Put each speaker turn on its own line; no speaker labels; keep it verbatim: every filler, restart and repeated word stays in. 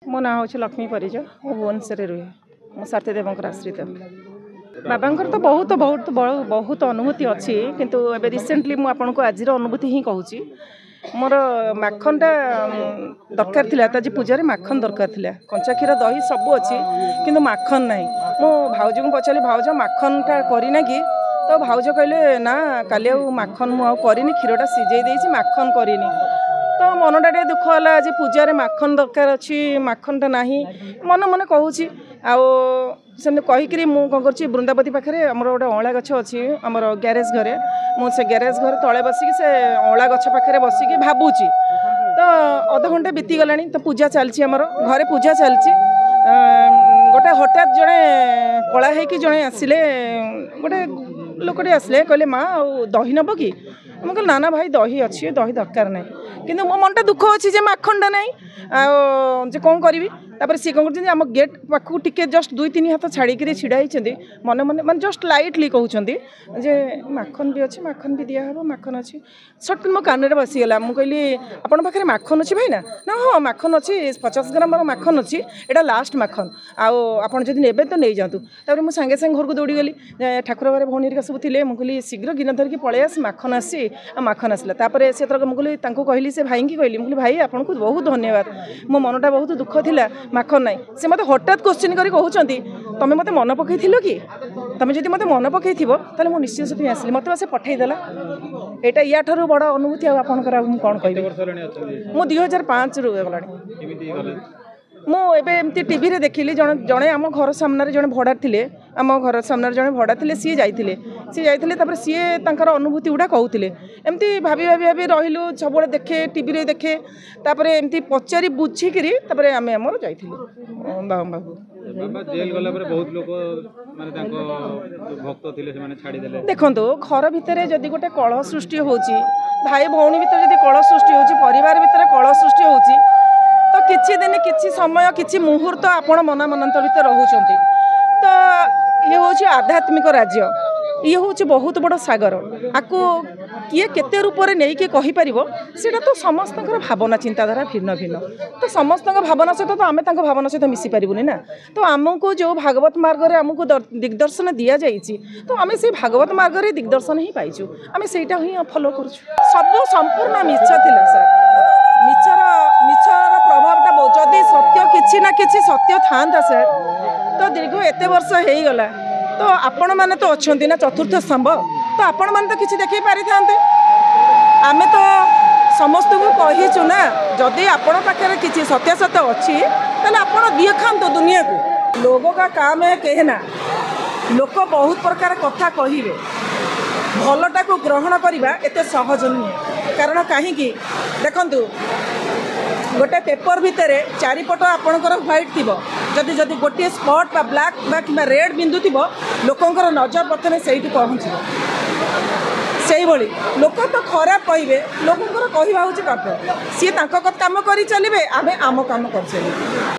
ମୋ ନାଁ ହେଉଛି ଲକ୍ଷ୍ମୀ ପରିଜା, ମୁଁ ଭୁବନେଶ୍ୱରରେ ରୁହେ। ମୁଁ ସାରଥୀ ଦେବଙ୍କର ଆଶ୍ରିତ। ବାବାଙ୍କର ତ ବହୁତ ବହୁତ ବହୁତ ଅନୁଭୂତି ଅଛି, କିନ୍ତୁ ଏବେ ରିସେଣ୍ଟଲି ମୁଁ ଆପଣଙ୍କୁ ଆଜିର ଅନୁଭୂତି ହିଁ କହୁଛି। ମୋର ମାଖନଟା ଦରକାର ଥିଲା, ତ ଆଜି ପୂଜାରେ ମାଖନ ଦରକାର ଥିଲା। କଞ୍ଚା କ୍ଷୀର, ଦହି ସବୁ ଅଛି, କିନ୍ତୁ ମାଖନ ନାହିଁ। ମୁଁ ଭାଉଜଙ୍କୁ ପଚାରିଲି, ଭାଉଜ ମାଖନଟା କରିନା କି? ତ ଭାଉଜ କହିଲେ, ନା କାଲି ଆଉ ମାଖନ ମୁଁ ଆଉ କରିନି, କ୍ଷୀରଟା ସିଝେଇ ଦେଇଛି, ମାଖନ କରିନି। ତ ମନଟା ଟିକେ ଦୁଃଖ ହେଲା, ଆଜି ପୂଜାରେ ମାଖନ ଦରକାର ଅଛି, ମାଖନଟା ନାହିଁ। ମନେ ମନେ କହୁଛି ଆଉ ସେମିତି କହିକିରି ମୁଁ କ'ଣ କରୁଛି, ବୃନ୍ଦାବତୀ ପାଖରେ ଆମର ଗୋଟେ ଅଁଳା ଗଛ ଅଛି ଆମର ଗ୍ୟାରେଜ ଘରେ, ମୁଁ ସେ ଗ୍ୟାରେଜ ଘରେ ତଳେ ବସିକି ସେ ଅଁଳା ଗଛ ପାଖରେ ବସିକି ଭାବୁଛି। ତ ଅଧଘଣ୍ଟା ବିତିଗଲାଣି, ତ ପୂଜା ଚାଲିଛି, ଆମର ଘରେ ପୂଜା ଚାଲିଛି। ଗୋଟେ ହଠାତ୍ ଜଣେ କଳା ହେଇକି ଜଣେ ଆସିଲେ, ଗୋଟେ ଲୋକଟେ ଆସିଲେ, କହିଲେ ମା ଆଉ ଦହି ନେବ କି? ମୁଁ କହିଲି ନା ନା ଭାଇ, ଦହି ଅଛି, ଦହି ଦରକାର ନାହିଁ। କିନ୍ତୁ ମୋ ମନଟା ଦୁଃଖ ଅଛି ଯେ ମାଖନଟା ନାହିଁ, ଆଉ ଯେ କ'ଣ କରିବି। ତାପରେ ସିଏ କ'ଣ କରୁଛନ୍ତି, ଆମ ଗେଟ୍ ପାଖକୁ ଟିକେ ଜଷ୍ଟ ଦୁଇ ତିନି ହାତ ଛାଡ଼ିକିରି ଛିଡ଼ା ହେଇଛନ୍ତି। ମନେ ମନେ ମାନେ ଜଷ୍ଟ ଲାଇଟଲି କହୁଛନ୍ତି ଯେ ମାଖନ ବି ଅଛି, ମାଖନ ବି ଦିଆହେବ, ମାଖନ ଅଛି। ସଟ୍ ମୋ କାନରେ ବସିଗଲା। ମୁଁ କହିଲି ଆପଣଙ୍କ ପାଖରେ ମାଖନ ଅଛି ଭାଇନା? ନା ହଁ ମାଖନ ଅଛି, ପଚାଶ ଗ୍ରାମର ମାଖନ ଅଛି, ଏଇଟା ଲାଷ୍ଟ ମାଖନ, ଆଉ ଆପଣ ଯଦି ନେବେ ତ ନେଇଯାଆନ୍ତୁ। ତାପରେ ମୁଁ ସାଙ୍ଗେ ସାଙ୍ଗେ ଘରକୁ ଦୌଡ଼ିଗଲି। ଠାକୁର ଘରେ ଭଉଣୀ ହେରିକା ସବୁ ଥିଲେ। ମୁଁ କହିଲି ଶୀଘ୍ର ଗିନା ଧରିକି ପଳେଇ ଆସ, ମାଖନ ଆସିଛି। ଆଉ ମାଖନ ଆସିଲା। ତାପରେ ସେ ମୁଁ କହିଲି ତାଙ୍କୁ କହିଲି, ସେ ଭାଇଙ୍କି କହିଲି, ମୁଁ କହିଲି ଭାଇ ଆପଣଙ୍କୁ ବହୁତ ଧନ୍ୟବାଦ, ମୋ ମନଟା ବହୁତ ଦୁଃଖ ଥିଲା, ମାଖନ ନାହିଁ। ସେ ମୋତେ ହଠାତ୍ କୋଶ୍ଚିନ୍ କରି କହୁଛନ୍ତି, ତମେ ମୋତେ ମନେ ପକାଇଥିଲ କି? ତମେ ଯଦି ମୋତେ ମନେ ପକାଇଥିବ ତାହେଲେ ମୁଁ ନିଶ୍ଚିତ ସେଥିପାଇଁ ଆସିଲି। ମୋତେ ବା ସେ ପଠେଇଦେଲା। ଏଇଟା ୟାଠାରୁ ବଡ଼ ଅନୁଭୂତି ଆଉ ଆପଣଙ୍କର ଆଉ ମୁଁ କ'ଣ କହିବି। ମୁଁ ଦୁଇ ହଜାର ପାଞ୍ଚରୁ ଗଲାଣି। ମୁଁ ଏବେ ଏମିତି ଟିଭିରେ ଦେଖିଲି, ଜଣେ ଜଣେ ଆମ ଘର ସାମ୍ନାରେ ଜଣେ ଭଡ଼ା ଥିଲେ, ଆମ ଘର ସାମ୍ନାରେ ଜଣେ ଭଡ଼ା ଥିଲେ, ସିଏ ଯାଇଥିଲେ ସିଏ ଯାଇଥିଲେ ତାପରେ ସିଏ ତାଙ୍କର ଅନୁଭୂତି ଗୁଡ଼ା କହୁଥିଲେ। ଏମିତି ଭାବି ଭାବି ଭାବି ରହିଲୁ, ସବୁବେଳେ ଦେଖେ, ଟିଭିରେ ଦେଖେ। ତାପରେ ଏମିତି ପଚାରି ବୁଝିକିରି ତାପରେ ଆମେ ଆମର ଯାଇଥିଲୁ ବାବା ପାଖକୁ। ଦେଖନ୍ତୁ, ଘର ଭିତରେ ଯଦି ଗୋଟେ କଳହ ସୃଷ୍ଟି ହେଉଛି, ଭାଇ ଭଉଣୀ ଭିତରେ ଯଦି କଳହ ସୃଷ୍ଟି ହେଉଛି, ପରିବାର ଭିତରେ କଳହ ସୃଷ୍ଟି ହେଉଛି, ତ କିଛି ଦିନ, କିଛି ସମୟ, କିଛି ମୁହୂର୍ତ୍ତ ଆପଣ ମନା ମନାନ୍ତର ଭିତରେ ରହୁଛନ୍ତି। ତ ଇଏ ହେଉଛି ଆଧ୍ୟାତ୍ମିକ ରାଜ୍ୟ, ଇଏ ହେଉଛି ବହୁତ ବଡ଼ ସାଗର। ଆକୁ କିଏ କେତେ ରୂପରେ ନେଇକି କହିପାରିବ, ସେଇଟା ତ ସମସ୍ତଙ୍କର ଭାବନା ଚିନ୍ତାଧାରା ଭିନ୍ନ ଭିନ୍ନ। ତ ସମସ୍ତଙ୍କ ଭାବନା ସହିତ ତ ଆମେ ତାଙ୍କ ଭାବନା ସହିତ ମିଶି ପାରିବୁନି ନା। ତ ଆମକୁ ଯେଉଁ ଭାଗବତ ମାର୍ଗରେ ଆମକୁ ଦିଗ୍ଦର୍ଶନ ଦିଆଯାଇଛି, ତ ଆମେ ସେଇ ଭାଗବତ ମାର୍ଗରେ ଦିଗ୍ଦର୍ଶନ ହିଁ ପାଇଛୁ, ଆମେ ସେଇଟା ହିଁ ଫଲୋ କରୁଛୁ। ସବୁ ସମ୍ପୂର୍ଣ୍ଣ ମିଛ ଥିଲା ସାର୍। ମିଛର ମିଛର ପ୍ରଭାବଟା ବହୁତ। ଯଦି ସତ୍ୟ କିଛି ନା କିଛି ସତ୍ୟ ଥାନ୍ତା ସାର୍, ତ ଦୀର୍ଘ ଏତେ ବର୍ଷ ହେଇଗଲା, ତ ଆପଣମାନେ ତ ଅଛନ୍ତି ନା ଚତୁର୍ଥ ସ୍ତମ୍ଭ, ତ ଆପଣମାନେ ତ କିଛି ଦେଖେଇ ପାରିଥାନ୍ତେ। ଆମେ ତ ସମସ୍ତଙ୍କୁ କହିଛୁ ନା, ଯଦି ଆପଣଙ୍କ ପାଖରେ କିଛି ସତ୍ୟାସତ୍ୟ ଅଛି ତାହେଲେ ଆପଣ ଦେଖାନ୍ତୁ ଦୁନିଆକୁ। ଲୋକ କା କାମ ହେ କହେନା, ଲୋକ ବହୁତ ପ୍ରକାର କଥା କହିବେ, ଭଲଟାକୁ ଗ୍ରହଣ କରିବା ଏତେ ସହଜ ନୁହେଁ। କାରଣ କାହିଁକି ଦେଖନ୍ତୁ, ଗୋଟେ ପେପର ଭିତରେ ଚାରିପଟ ଆପଣଙ୍କର ହ୍ୱାଇଟ୍ ଥିବ, ଯଦି ଯଦି ଗୋଟିଏ ସ୍ପଟ୍ ବା ବ୍ଲାକ୍ ବା କିମ୍ବା ରେଡ଼୍ ବିନ୍ଦୁ ଥିବ, ଲୋକଙ୍କର ନଜର ପ୍ରଥମେ ସେଇଠି ପହଞ୍ଚିବ। ସେଇଭଳି ଲୋକ ତ ଖରାପ କହିବେ, ଲୋକଙ୍କର କହିବା ହେଉଛି କର୍ତ୍ତବ୍ୟ। ସିଏ ତାଙ୍କ କାମ କରି ଚାଲିବେ, ଆମେ ଆମ କାମ କରି ଚାଲିବୁ।